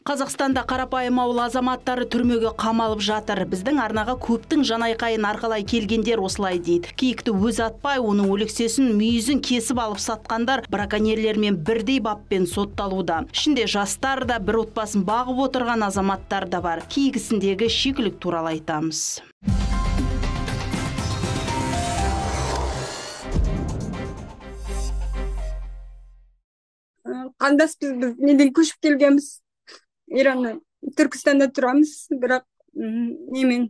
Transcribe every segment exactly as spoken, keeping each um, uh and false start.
Қазақстанда қарапайым ауыл азаматтары түрмеге қамалып жатыр. Біздің арнаға көптің жанайқайын арқалай келгендер осылай дейді. Киікті өз атпай, оның өлексесін, мүйізін кесіп алып сатқандар браконьерлермен бірдей баппен сотталуда. Ішінде жастар да, бір отбасын бағып отырған азаматтар да бар. Киік ісіндегі шикілік туралы айтамыз. Қандас біз, біз неден көшіп келгенбіз. Ираннан, Түркістанда тұрамыз, бірақ немен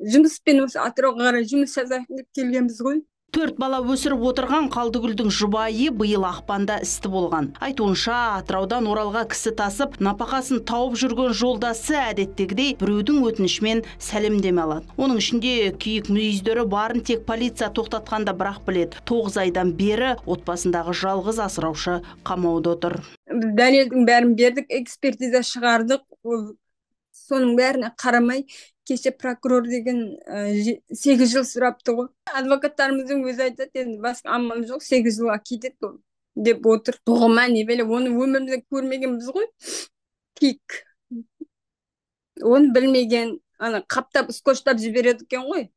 жұмыспен осы Атырауға қарай жұмыс жасайық деп келгенбіз ғой. Төрт бала өсіріп отырған Қалдыгүлдің жұбайы биыл ақпанда істі болған. Айтуынша, Атыраудан Оралға кісі тасып, напақасын тауып жүрген жолдасы әдеттегідей біреудің өтінішімен сәлемдеме алады. Оның ішінде киік мүйіздері барын тек полиция тоқтатқанда бірақ біледі. тоғыз айдан бері отбасындағы жалғыз асыраушы қамауда отыр. Біз дәлелдің бәрін бердік, экспертиза шығардық. Соның бәріне қарамай, кеше прокурор деген сегіз жыл сұрапты ғой. Адвокаттарымыздың өзі айтады, енді басқа амал жоқ, сегіз жылға кетеді деп отыр. Бұғыма не беле, оны өмірімізде көрмегенбіз ғой. Киік. Оны білмеген, ана қаптап, скотчтап жібереді екен ғой.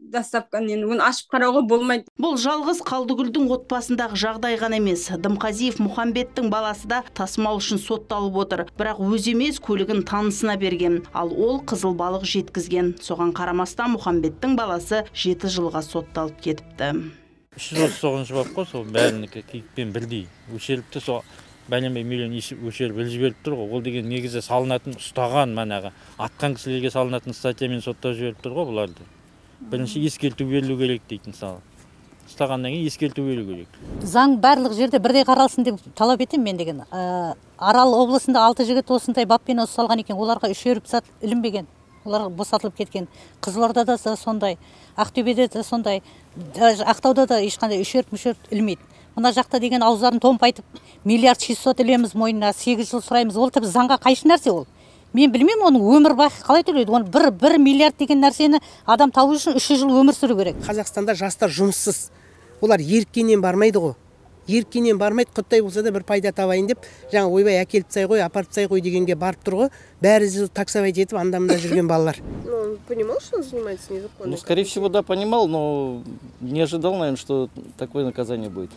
Дастапқан, енді оны ашып қарауға болмайды. Бұл жалғыз Қалдыгүлдің отбасындағы жағдай ғана емес. Дымқазиев Мұхамбеттің баласы да тасымал үшін сотталып отыр. Бірақ өз емес, көлігін танысына берген. Ал ол қызыл балық жеткізген. Соған қарамастан Мұхамбеттің баласы жеті жылға сотталып кетіпті. үш жүз отыз тоғызыншы бап қой, сол бәрінікі киікпен бірдей өшеріпті, сол бәленбай миллион өшеріп іліп жіберіп тұр ғой. Ол деген негізі салынатын, ұстаған манағы атқан кісілерге салынатын статьямен соттап жіберіп тұр ғой бұларды. Бірінші ескерту берілу керек дейді, мысалы. Ұстағаннан кейін ескерту берілу керек. Заң барлық жерде бірдей қаралсын деп талап етем мен деген. Арал облысында алты жігіт осындай баппен ұсталған екен, оларға үшеріп сат ілінбеген. Олар босатылып кеткен. Қызылордада да сондай, Ақтөбеде де сондай, Ақтауда да ешқандай үшеріп мүшеріп ілмейді. Мына жақта деген аузарын томпайтып, миллиард шестьсот ілеміз мойнына, сегіз жыл сұраймыз. Ол тіпті заңға қайшы нәрсе ол. Мен білмеймін, оның өмір бақи қалай төлейді. Оны бір, бір миллиард деген нәрсені адам табу үшін үш жыл өмір сүру керек. Қазақстанда жастар жұмыссыз. Олар еріккеннен бармайды ғой. Еріккеннен бармайды, құттай болса да бір пайда табайын деп, жаңа ойбай әкеліп тастай ғой, апарып тастай ғой дегенге барып тұр ғой. Бәрі таксовать етіп андамында жүрген балалар. Ну, он понимал, что он занимается незаконно? Ну, скорее всего, да, понимал, но не ожидал, наверное, что такое наказание будет.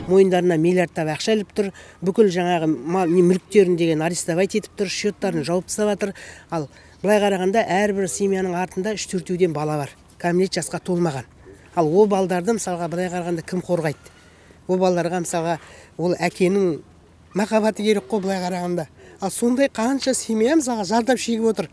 Мойындарына миллиардтап ақша іліп тұр, бүкіл жаңағы мүліктерін деген арестовать етіп тұр, счеттарын жауып тастап жатыр. Ал былай қарағанда әрбір семьяның артында үш төртеуден бала бар, кәмелет жасқа толмаған. Ал ол балдарды мысалға былай қарағанда кім қорғайды? Ол балаларға мысалға ол әкенің махаббаты керек қой былай қарағанда. Ал сондай қанша семья мысалға зардап шегіп отыр.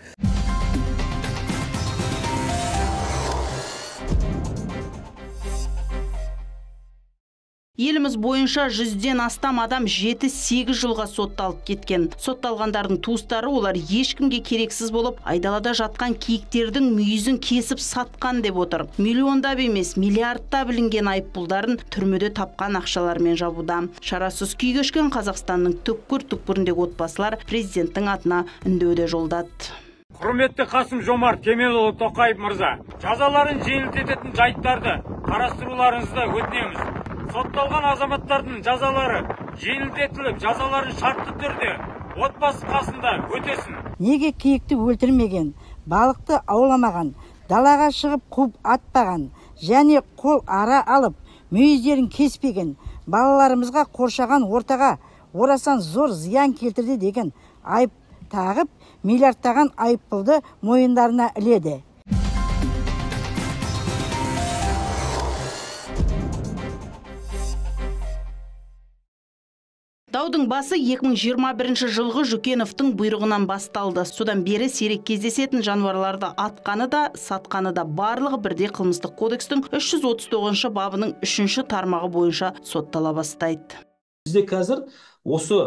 Еліміз бойынша жүзден астам адам жеті сегіз жылға сотталып кеткен. Сотталғандардың туыстары олар ешкімге керексіз болып, айдалада жатқан киіктердің мүйізін кесіп сатқан деп отыр. Миллиондап емес, миллиардтап білінген айыппұлдарын түрмеде тапқан ақшалармен жабуда. Шарасыз күй кешкен Қазақстанның түкпір-түкпіріндегі отбасылар президенттің атына үндеуде жолдады. Құрметті Қасым Жомарт Кемелұлы Тоқаев мырза, жазаларын жеңілдететін жайттарды қарастыруларыңызды өтінеміз. Сотталған азаматтардың жазалары жеңілдетіліп, жазаларын шартты түрде отбасы қасында өтесін. Неге киікті өлтірмеген, балықты ауламаған, далаға шығып қуып атпаған, және қол ара алып, мүйіздерін кеспеген, балаларымызға қоршаған ортаға орасан зор зиян келтірді деген айып тағып, миллиардтаған айыппұлды мойындарына іледі. Даудың басы екі мың жиырма бірінші жылғы Жүкеновтың бұйрығынан басталды. Содан бері сирек кездесетін жануарларды атқаны да, сатқаны да барлығы бірдей қылмыстық кодекстің үш жүз отыз тоғызыншы бабының үшінші тармағы бойынша соттала бастайды. Бізде қазір осы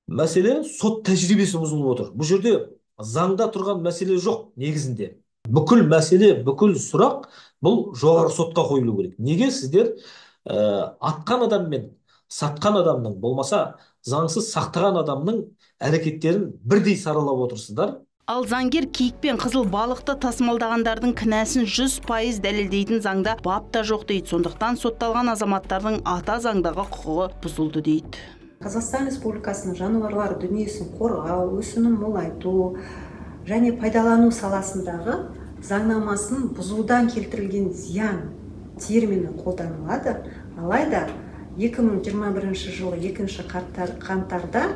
мәселе сот тәжірибесі бұзылып отыр. Бұл жерде заңда тұрған мәселе жоқ негізінде. Бүкіл мәселе, бүкіл сұрақ бұл жоғары сотқа қойылу керек. Неге сіздер ә, атқан адаммен сатқан адамның, болмаса заңсыз сақтаған адамның әрекеттерін бірдей саралап отырсыздар? Ал заңгер киік пен қызыл балықты тасымалдағандардың кінәсін жүз пайыз дәлелдейтін заңда бап та жоқ дейді. Сондықтан сотталған азаматтардың ата заңдағы құқығы бұзылды дейді. Қазақстан Республикасының жануарлар дүниесін қорғау, өсімін молайту және пайдалану саласындағы заңнамасын бұзудан келтірілген зиян термині қолданылады. Алайда екі мың жиырма бірінші жылы екінші қаңтарда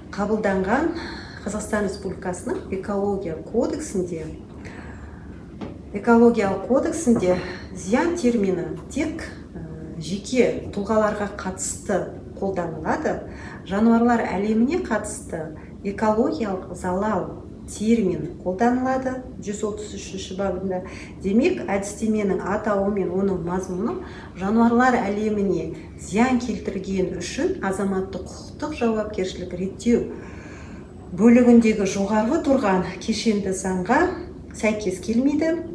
қабылданған Қазақстан Республикасының экология кодексінде экологиялық кодексінде зиян термині тек жеке тұлғаларға қатысты қолданылады. Жануарлар әлеміне қатысты экологиялық залал термин қолданылады жүз отыз үшінші бабында. Демек, әдістеменің атауы мен оның мазмұны жануарлар әлеміне зиян келтірген үшін азаматтық құқықтық жауапкершілік реттеу бөлігіндегі жоғарғы тұрған кешенді заңға сәйкес келмейді.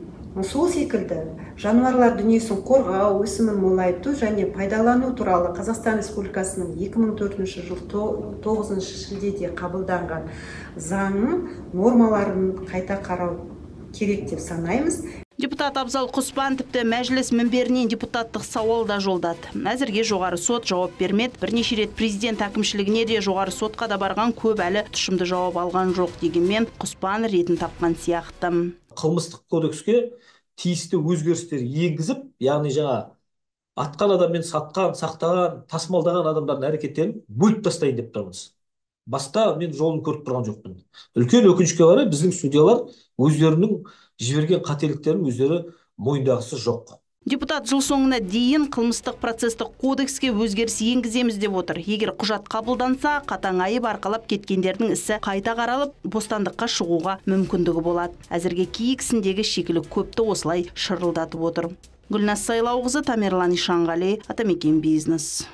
Сол секілді жануарлар дүниесін қорғау, өсімін молайту және пайдалану туралы Қазақстан Республикасының екі мың төртінші жыл тоғызыншы шілдеде қабылданған заңның нормаларын қайта қарау керек деп санаймыз. Депутат Абзал Құспан тіпті мәжіліс мінберінен депутаттық сауал да жолдады. Әзірге жоғары сот жауап бермеді. Бірнеше рет президент әкімшілігіне де жоғары сотқа да барған, көп әлі тұшымды жауап алған жоқ дегенмен Құспан ретін тапқан сияқты. Қылмыстық кодекске тиісті өзгерістер енгізіп, яғни жаңа атқан адаммен сатқан, сақтаған, тасымалдаған адамдардың әрекеттерін бөліп тастайын деп тұрмыз. Басқа мен жолын көріп тұрған жоқпын. Үлкен өкінішке қарай біздің судьялар өздерінің жіберген қателіктерін өздері мойындағысы жоқ. Депутат жыл соңына дейін қылмыстық процестік кодекске өзгеріс енгіземіз деп отыр. Егер құжат қабылданса, қатаң айып арқалап кеткендердің ісі қайта қаралып, бостандыққа шығуға мүмкіндігі болады. Әзірге киік ісіндегі шикілік көпті осылай шырылдатып отыр. Гүлназ Сайлауқызы, Тамерлан Ишанғали, Атамекен Бизнес.